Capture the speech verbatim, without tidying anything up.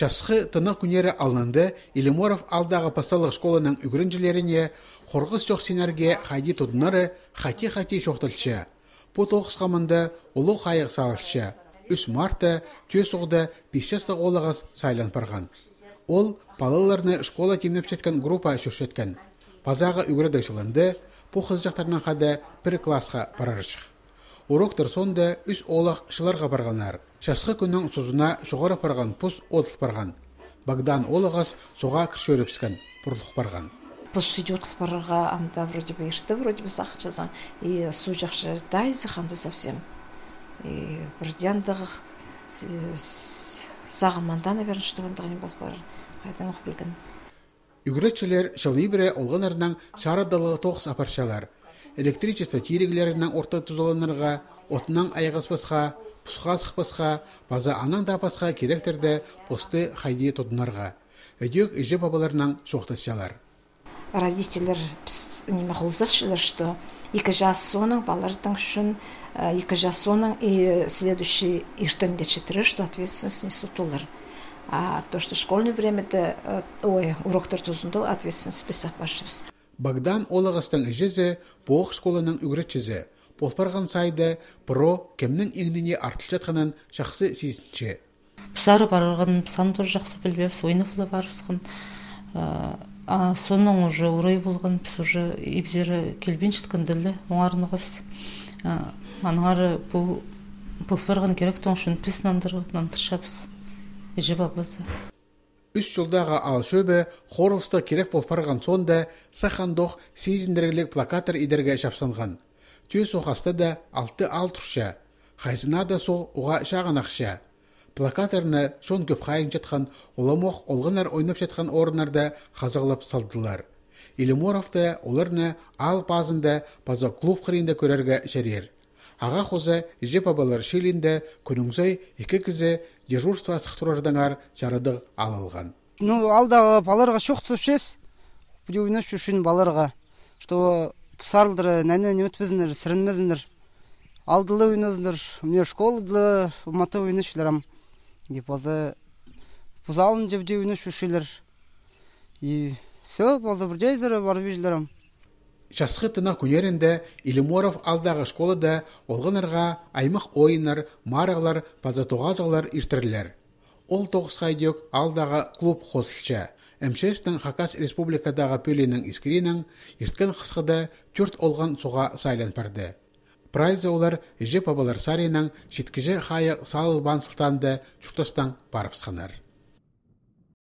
Шасқы тынық күнері алынды Илиморов алдағы пасталық школаның үгірінжілеріне қорғыз жоқсенерге хайди тұдынары хати-хати шоқтылшы. По тоғыз қамында ұлы қайық салылшы. үш марта төс оғды бесестік олығыз сайлан парған. Ол балаларны школа темнеп жеткен группа шүршеткен. Пазаға үгірді шылынды, по қызжақтарынан қады бір классқа барарышық. Уроктар сонда үш олық шыларға барғанар. Шасқы күннің созына шоғары парған пұс отыл парған. Богдан олығыз соға кіршөріпскен, бұрылық парған. Пұс сүйді отыл парға амда вроде бы иршті, вроде бы сақчазан. И су жақшы дайзы қанды совсем. И бірдендіғы сағыманда, наверное, что он дағын болып бар. Қайдан оқ білген. Үгіретшілер шылы бірі олғанарынан шарадылығы тоғыз апаршалар. Электричество тирегілерінің орта тұзоланырға, отынан айғаспасқа, пұсқа сықпасқа, база анан дапасқа керектерді посты хайди тұдынарға. Өдек үжі бабаларынан шоқтасшалар. Родителер неме құлзыршылар, что екі жас соның балардың үшін, екі жас соның и следующий иртен geçitirir, что ответственность несут олар. А то, что в школьное время, ой, уроктар тұзында ответственность писап баршыбыз. Богдан олығыстың үжізі боқ школаның үгіретшізі. Болпарған сайды бұро кемнің еңдіне артыл жатқанын жақсы сезінші. Бұсары барырған санды жақсы білбеп, ойнықлы барысқын. Соның уже урай болған, біз уже ебзері келбен шыткан ділі, оңарынығыз. Аныңары болпарған керек тоңшын піс нандыршапыз. Ежі бабасы. Үш жылдағы ал шөбі қорылысты керек болпарған сонда сақандоқ сезіндіргілік плакатыр идерге шапсанған. Төс оқасты да алты ал тұрша. Хайзына да соң оға шағын ақша. Плакатырны шон көп қайым жатқан оламоқ олғынар ойнап жатқан орынарда қазығылып салдылар. Илиморовты оларны ал базында база клуб қырында көрерге шәрер. Аға қозы жеп абалар шелінде күніңзай екі кізі дежурство сықтырардыңар жарыдық алылған. Ну, алдағы баларға шоқты шес, бұде ойнаш үшін баларға, что сарылдыры, нәне немет бізіндер, сірінмезіндер. Алдылы ойназындыр, мне школыды, ұматы ойнашыларам. И базы бұзалын жебде ойнаш үшілер. И все, базы бірдейзірі бар бейжілерам. Шасқы тына күнерінде Илиморов алдағы школада олғынарға аймақ ойынар, марығлар, базатоғазығылар иртірілер. Ол тоғыз қайдек алдағы клуб қосылша. МЧС-тің Хакас республикадағы пөлінің искірінің ерткен қысқыда төрт олған соға сайлан барды. Прайзы олар жеп абалар саринің жеткіжі қайық салыл бансылтанды чұртастан барып сқанар.